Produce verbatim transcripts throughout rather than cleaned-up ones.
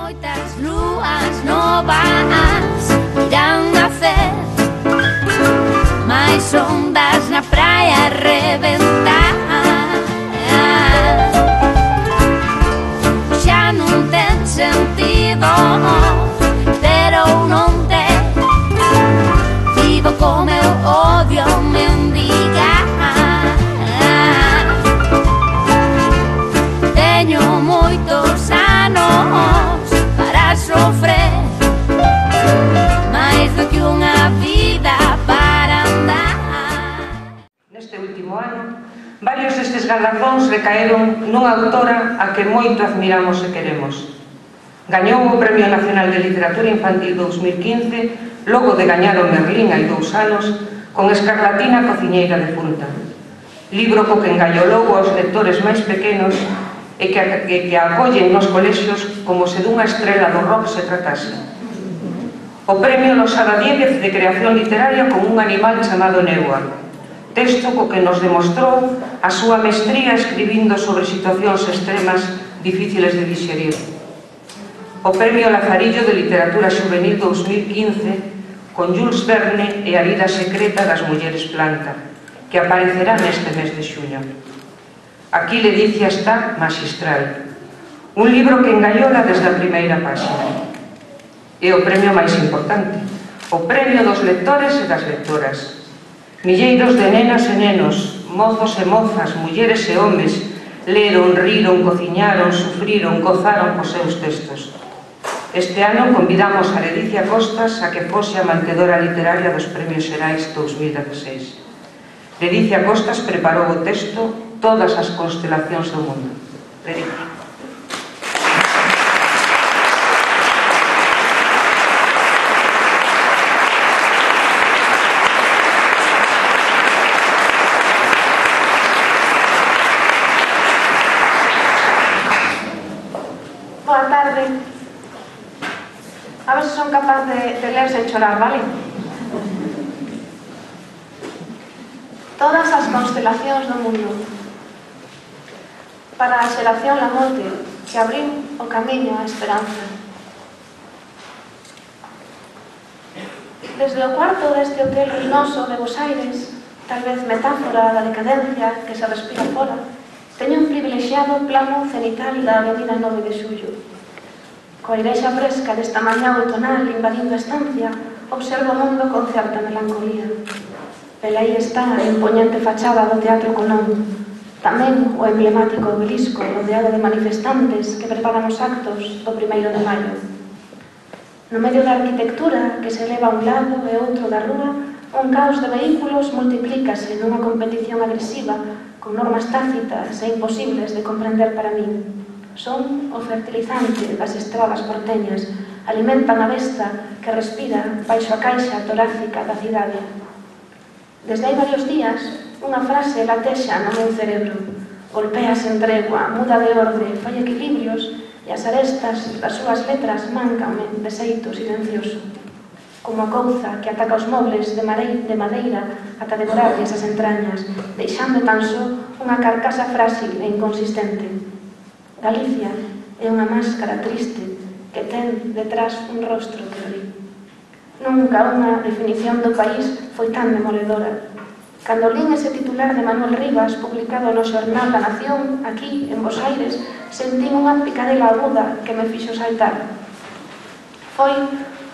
moitas lúas novas irán nacer, máis ondas na praia reventar. Xa non ten sentido ter ou non ter, vivo co meu odio mendigar. Teño moitos anos para sofrer, máis do que unha vida para andar. Neste último ano, varios destes galardóns recaeron nunha autora a que moito admiramos e queremos. Gañou o Premio Nacional de Literatura Infantil dous mil quince, logo de gañar o Merlín hai dous anos, con Escarlatina Cociñeira de Punta, libro co que engallolou aos lectores máis pequenos e que, que, que acollen nos colexios como se dunha estrela do rock se tratase. O Premio Losada Diéguez de Creación Literaria con un animal chamado Neua, texto co que nos demostrou a súa mestría escribindo sobre situacións extremas difíciles de digerir. O Premio Lazarillo de Literatura Xuvenil dous mil quince con Jules Verne e a vida secreta das mulleres planta, que aparecerá neste mes de xuño. Aquí Ledicia está maxistral, un libro que engallola desde a primeira páxina. E o premio máis importante, o premio dos lectores e das lectoras. Milleiros de nenas e nenos, mozos e mozas, mulleres e homes, leron, riron, cociñaron, sufriron, gozaron cos seus textos. Este ano convidamos a Ledicia Costas a que fose a mantedora literaria dos Premios Xerais dous mil dieciséis. Ledicia Costas preparou o texto Todas as constelacións do mundo. Ledicia. Boa tarde. A ver se son capaz de, de ler sen chorar, vale? Todas as constelacións do mundo. Para a xeración Lamonte, que abriu o camiño á esperanza. Desde o cuarto deste hotel ruinoso de Bos Aires, tal vez metáfora da decadencia que se respira fora, teño un privilexiado plano cenital da avenida nove de xullo. Coa irexa fresca desta mañá outonal invadindo a estancia, observo o mundo con certa melancolía. Pero aí está a impoñente fachada do Teatro Colón, tamén o emblemático obelisco rodeado de manifestantes que preparan os actos do primeiro de maio. No medio da arquitectura que se eleva a un lado e outro da rúa, un caos de vehículos multiplícase nunha competición agresiva con normas tácitas e imposibles de comprender para min. Son o fertilizante das estradas porteñas, alimentan a besta que respira baixo a caixa torácica da cidade. Desde hai varios días, unha frase latexa no meu cerebro. Golpea sen tregua, muda de orde, fai equilibrios e as arestas das súas letras máncanme de xeito silencioso. Como a couza que ataca os mobles de madeira ata devorarlles as entrañas, deixando tan só unha carcasa frágil e inconsistente. Galicia é unha máscara triste que ten detrás un rostro que ri. Nunca unha definición do país foi tan demoledora. Cando lín ese titular de Manuel Rivas, publicado no xornal da Nación, aquí, en Bos Aires, sentín unha picadela aguda que me fixo saltar. Foi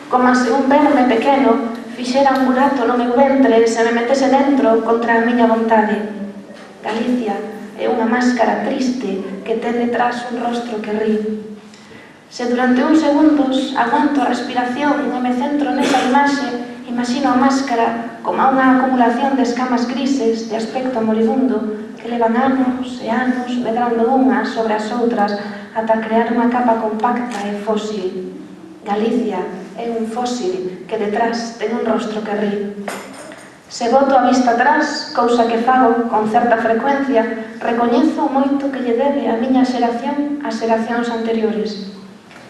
como se un verme pequeno fixera un burato no meu ventre e se me metese dentro contra a miña vontade. Galicia é unha máscara triste que ten detrás un rostro que ri. Se durante uns segundos aguanto a respiración e me centro nesa imaxe, imagino a máscara como unha acumulación de escamas grises de aspecto moribundo que levan anos e anos medrando unhas sobre as outras ata crear unha capa compacta e fósil. Galicia é un fósil que detrás ten un rostro que ri. Se boto a vista atrás, cousa que fago con certa frecuencia, recoñezo moito que lle debe a miña xeración ás xeracións anteriores.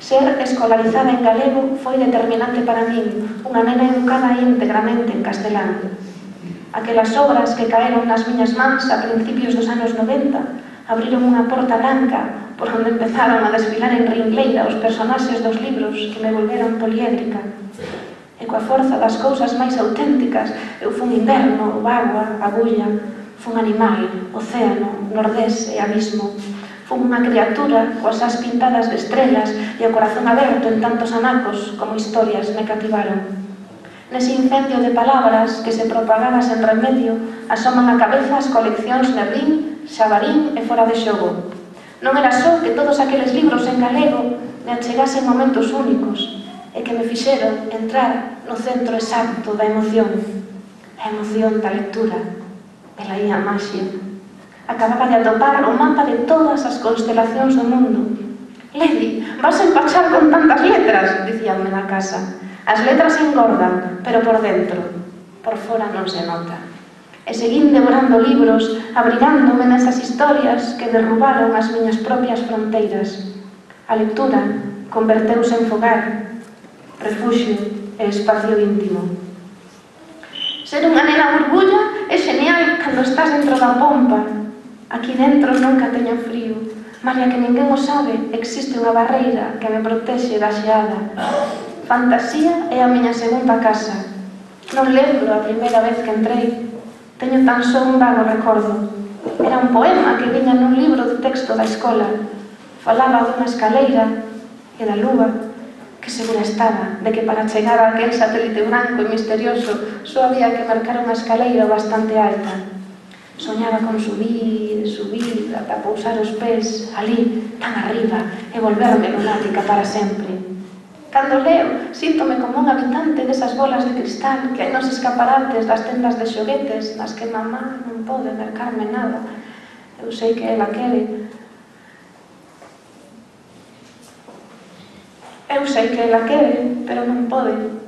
Ser escolarizada en galego foi determinante para min, unha nena educada íntegramente en castelán. Aquelas obras que caeron nas miñas mans a principios dos anos noventa abriron unha porta branca por onde empezaron a desfilar en ringleira os personaxes dos libros que me volveron poliédrica. E coa forza das cousas máis auténticas, eu fun inverno, agua, agulla, fun animal, océano, nordés e abismo. Fun unha criatura coas as pintadas de estrelas e o corazón aberto en tantos anacos como historias me cativaron. Nese incendio de palabras que se propagaba sen remedio, asoman a cabeza as coleccións Merlín, Xabarín e Fora de Xogo. Non era só que todos aqueles libros en galego me achegasen momentos únicos e que me fixeron entrar no centro exacto da emoción, a emoción da lectura, velaí a maxia. Acababa de atopar o mapa de todas as constelacións do mundo. Lady, vas a empachar con tantas letras, dicíanme na casa. As letras engordan, pero por dentro, por fora non se nota. E seguín devorando libros, abrigándome nesas historias que derrubaron as miñas propias fronteiras. A lectura converteuse en fogar, refuxio e espacio íntimo. Ser unha nena burbulla é genial cando estás dentro da pompa. Aquí dentro nunca teño frío. Malia que ninguén o sabe, existe unha barreira que me protexe da xeada. Fantasía é a miña segunda casa. Non lembro a primeira vez que entrei. Teño tan só un vago recordo. Era un poema que viña nun libro de texto da escola. Falaba dunha escaleira e da lúa, que segura estaba de que para chegar a aquel satélite branco e misterioso só había que marcar unha escaleira bastante alta. Soñaba con subir, subir, ata pousar os pés ali, tan arriba, e volverme lunática para sempre. Cando leo, síntome como un habitante desas bolas de cristal que hai nos escaparates das tendas de xoguetes nas que mamá non pode mercarme nada. Eu sei que ela quere. Eu sei que ela quere, pero non pode.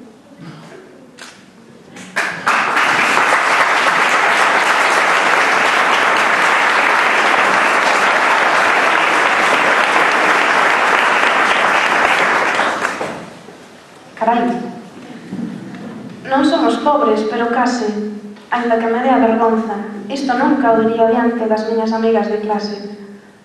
Carai, non somos pobres, pero case, ainda que me dea vergonza. Isto nunca o diría diante das miñas amigas de clase.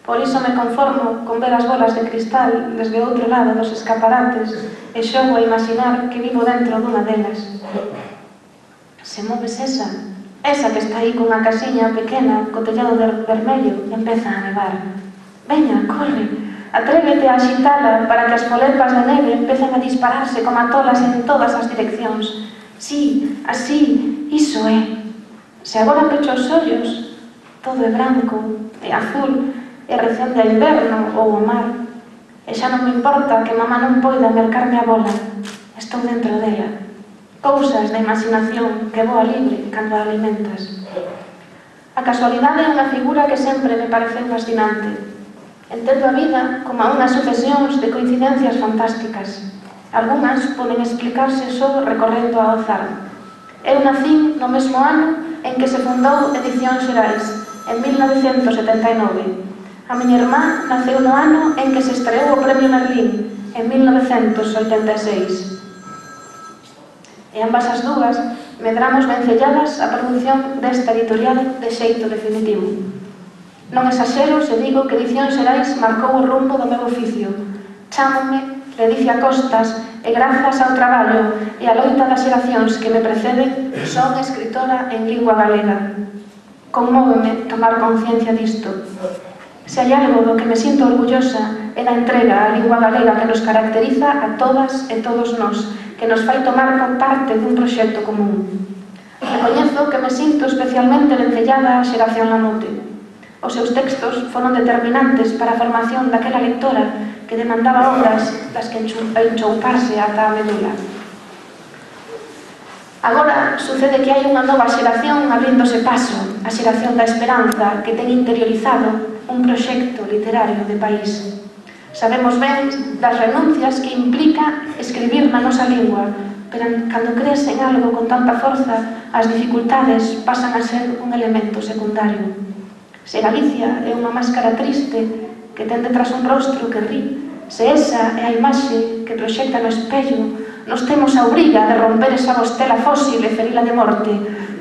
Por iso me conformo con ver as bolas de cristal desde o outro lado dos escaparates e xogo a imaginar que vivo dentro dunha delas. Se moves esa, esa que está aí cunha casiña pequena co tellado de vermello, empeza a nevar. Veña, corre! Atrévete a axitala para que as molepas de neve empecen a dispararse como tolas en todas as direccións. Sí, así, iso é. Se agora pecho os ollos, todo é branco e azul e recende a inverno ou o mar. E xa non me importa que mamá non poida mercarme a bola. Estou dentro dela. Cousas da imaginación que voa libre cando a alimentas. A casualidade é unha figura que sempre me pareceu fascinante. Entendo a vida como a unhas sucesións de coincidencias fantásticas. Algúnas poden explicarse só recorrendo ao azar. Eu nacín no mesmo ano en que se fundou Edicións Xerais, en mil novecentos setenta e nove. A miña irmá naceu no ano en que se estreou o Premio Merlín, en mil novecentos oitenta e seis. E ambas as dúas medramos vencelladas a produción desta editorial de xeito definitivo. Non exaxero se digo que Edicións Xerais marcou o rumbo do meu oficio. Chámonme Ledicia Costas e grazas ao traballo e a loita das xeracións que me preceden son escritora en lingua galega. Conmóveme tomar conciencia disto. Se hai algo do que me sinto orgullosa é da entrega á lingua galega que nos caracteriza a todas e todos nós, que nos fai tomar parte dun proxecto común. Recoñezo que me sinto especialmente vencellada á xeración Lamote. Os seus textos foron determinantes para a formación daquela lectora que demandaba obras das que enchouparse ata a medula. Agora sucede que hai unha nova xeración abríndose paso, a xeración da esperanza que ten interiorizado un proxecto literario de país. Sabemos ben das renuncias que implica escribir na nosa lingua, pero cando crees en algo con tanta forza, as dificultades pasan a ser un elemento secundario. Se Galicia é unha máscara triste que ten detrás un rostro que ri, se esa é a imaxe que proxecta no espello, nos temos a obriga de romper esa bostela fósil e ferila de morte,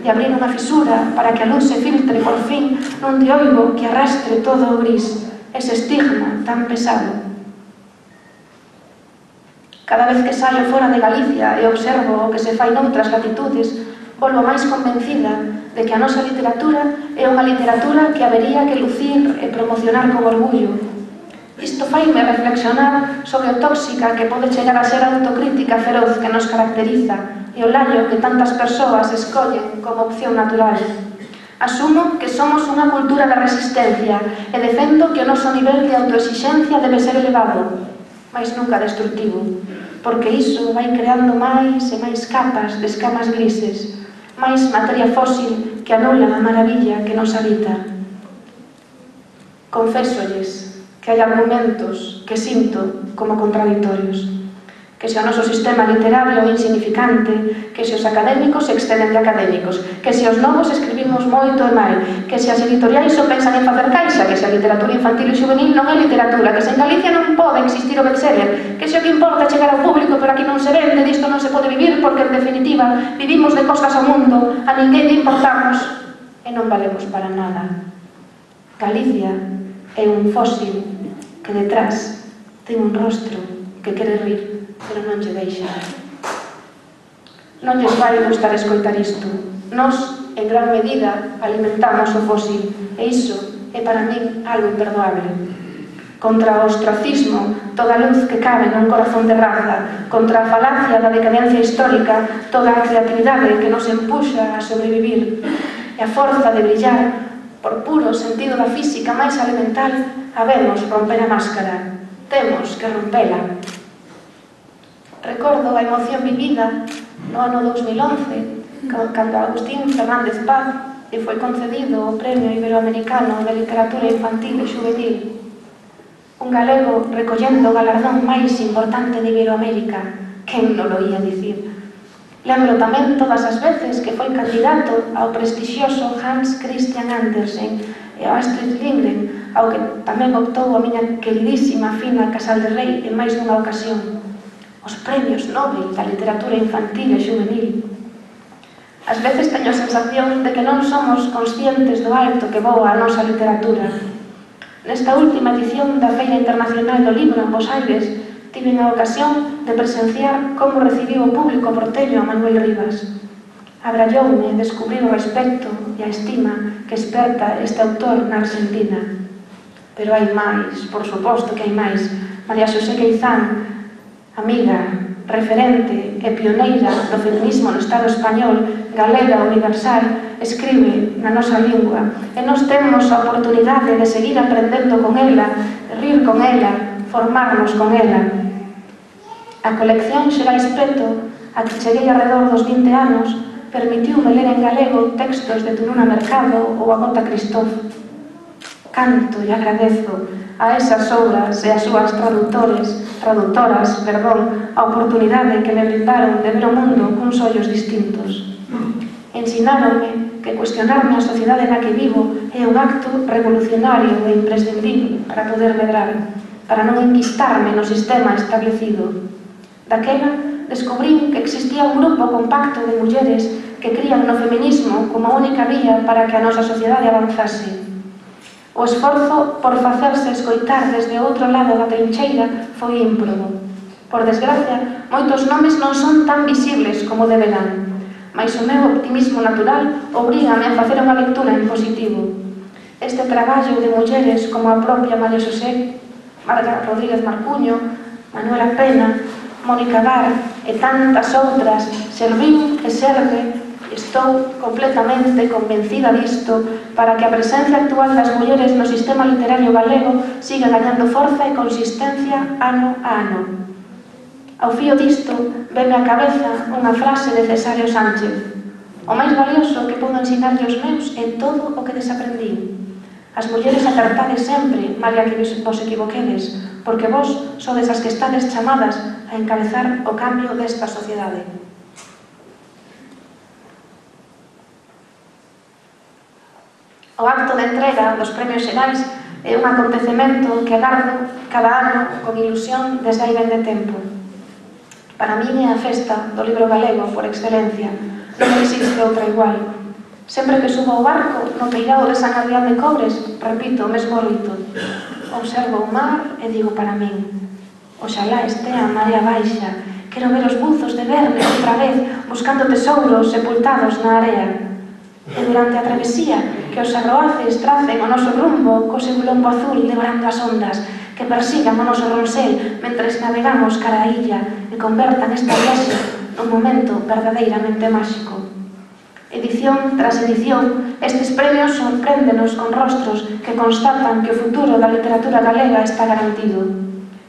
de abrir unha fisura para que a luz se filtre por fin nun dioigo que arrastre todo o gris, ese estigma tan pesado. Cada vez que saio fora de Galicia e observo o que se fai noutras latitudes, volvo máis convencida de que a nosa literatura é unha literatura que habería que lucir e promocionar con orgullo. Isto faime reflexionar sobre o tóxica que pode chegar a ser a autocrítica feroz que nos caracteriza e o laio que tantas persoas escollen como opción natural. Asumo que somos unha cultura da resistencia e defendo que o noso nivel de autoexixencia debe ser elevado, mas nunca destructivo, porque iso vai creando máis e máis capas de escamas grises, máis materia fósil que anula a maravilla que nos habita. Confésolles que hai argumentos que sinto como contradictorios, que se o noso sistema literario é insignificante, que se os académicos se exceden de académicos, que se os novos escribimos moito e mal, que se as editoriais só pensan en facer caixa, que se a literatura infantil e juvenil non é literatura, que se en Galicia non pode existir o bestseller, que se o que importa é chegar ao público, pero aquí non se vende, disto non se pode vivir, porque en definitiva vivimos de costas ao mundo, a ninguén lle importamos e non valemos para nada. Galicia é un fósil que detrás ten un rostro que quere rir, pero non lle deixa. Non lles vai gustar escoitar isto. Nós, en gran medida, alimentamos o fósil, e iso é para min algo imperdoable. Contra o ostracismo, toda a luz que cabe nun corazón de raza, contra a falacia da decadencia histórica, toda a creatividade que nos empuxa a sobrevivir, e a forza de brillar por puro sentido da física máis elemental, habemos romper a máscara. Temos que rompela. Recordo a emoción vivida no ano dos mil once, cando Agustín Fernández Paz lle foi concedido o Premio Iberoamericano de Literatura Infantil e Juvenil. Un galego recollendo o galardón máis importante de Iberoamérica. Quen non lo ia dicir? Lembro tamén todas as veces que foi candidato ao prestixioso Hans Christian Andersen e ao Astrid Lindgren, ao que tamén optou a miña queridísima Fina Casal de Rei en máis dunha ocasión. Os premios Nobel da literatura infantil e juvenil. Ás veces teño a sensación de que non somos conscientes do alto que voa a nosa literatura. Nesta última edición da Feira Internacional do Libro en Bos Aires, tive a ocasión de presenciar como recibiu o público porteño a Manuel Rivas. Abralloume descubrir o respecto e a estima que esperta este autor na Argentina. Pero hai máis, por suposto que hai máis. María Xosé Queizán, amiga, referente e pioneira do feminismo no Estado español, galega universal, escribe na nosa lingua e nós temos a oportunidade de seguir aprendendo con ela, rir con ela, formarnos con ela. A colección Xerais Peto, a que cheguei alrededor dos vinte anos, permitiume ler en galego textos de Tununa Mercado ou a Gota Cristóf. Canto e agradezo a esas obras e as súas tradutores, traductoras, perdón, a oportunidade que me brindaron de ver o mundo cuns ollos distintos. Ensináronme que cuestionarme a sociedade na que vivo é un acto revolucionario e imprescindible para poder medrar, para non enquistarme no sistema establecido. Daquela, descubrín que existía un grupo compacto de mulleres que crían no feminismo como a única vía para que a nosa sociedade avanzase. O esforzo por facerse escoitar desde o outro lado da trincheira foi ímprobo. Por desgracia, moitos nomes non son tan visibles como deberán, mas o meu optimismo natural obrígame a facer unha lectura en positivo. Este traballo de mulleres como a propia María Xosé, Marga Rodríguez Marcuño, Manuela Pena, Mónica Bar e tantas outras serviu e serve, estou completamente convencida disto, para que a presencia actual das mulleres no sistema literario galego siga gañando forza e consistencia ano a ano. Ao fío disto, veme á cabeza unha frase de Cesáreo Sánchez: o máis valioso que podo ensinarlle aos meus é todo o que desaprendín. As mulleres acertades sempre, malia que vos equivoquedes, porque vos sodes as que estades chamadas a encabezar o cambio desta sociedade. O acto de entrega dos premios xerais é un acontecemento que agardo cada ano con ilusión desde hai ben de tempo. Para min é a festa do libro galego por excelencia, non existe outra igual. Sempre que subo ao barco, no peirao de San Adrián de Cobres, repito o mesmo rito. Observo o mar e digo para min: oxalá estea a marea baixa, quero ver os buzos de Verne outra vez, buscando tesouros sepultados na area. E durante a travesía, que os arroaces tracen o noso rumbo co seu lombo azul devorando as ondas, que persigan o noso ronsel mentres navegamos cara a illa e convertan esta viaxe nun momento verdadeiramente máxico. Edición tras edición, estes premios sorpréndenos con rostros que constatan que o futuro da literatura galega está garantido.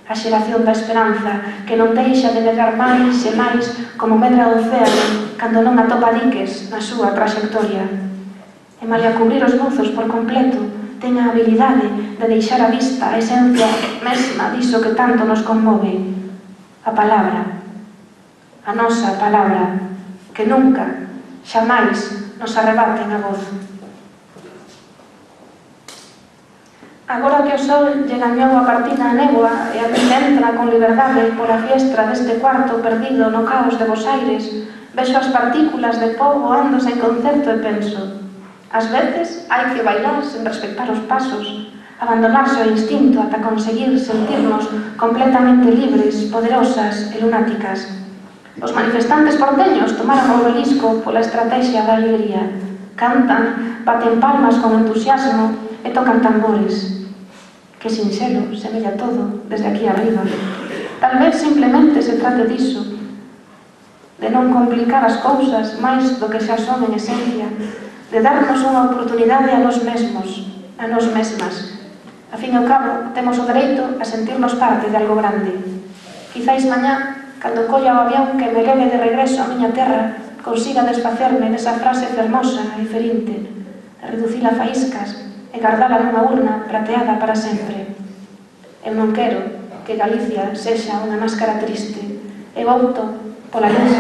A xeración da esperanza, que non deixa de medrar máis e máis como medra o océano cando non atopa diques na súa traxectoria. E malia cubrir os buzos por completo, ten a habilidade de deixar a vista a esencia mesma diso que tanto nos conmove. A palabra, a nosa palabra, que nunca, xamais nos arrebaten a voz. Agora que o sol lle gañou a partida a néboa e a vida entra con liberdade pola fiestra deste cuarto perdido no caos de Bos Aires, vexo as partículas de pó voando sen concerto e penso: ás veces hai que bailar sen respectar os pasos, abandonarse o instinto ata conseguir sentirnos completamente libres, poderosas e lunáticas. Os manifestantes porteños tomaron o obelisco pola estrategia da alegría. Cantan, baten palmas con entusiasmo e tocan tambores. Que sinxelo semella todo desde aquí arriba. Tal vez simplemente se trate diso, de non complicar as cousas máis do que xa son en esencia, de darnos unha oportunidade a nós mesmos, a nós mesmas. A fin e ao cabo, temos o dereito a sentirnos parte de algo grande. Quizáis mañá, cando colla o avión que me leve de regreso á miña terra, consiga desfacerme nesa frase fermosa e ferinte, reducila a faíscas e guardala nunha urna prateada para sempre. Eu non quero que Galicia sexa unha máscara triste. Eu opto pola luz,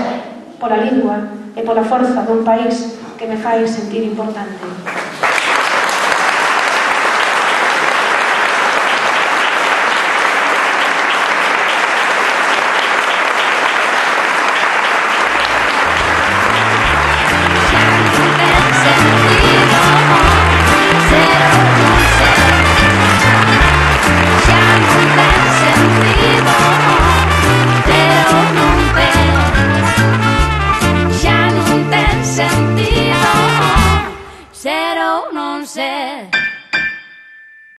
pola lingua e pola forza dun país que me fai sentir importante.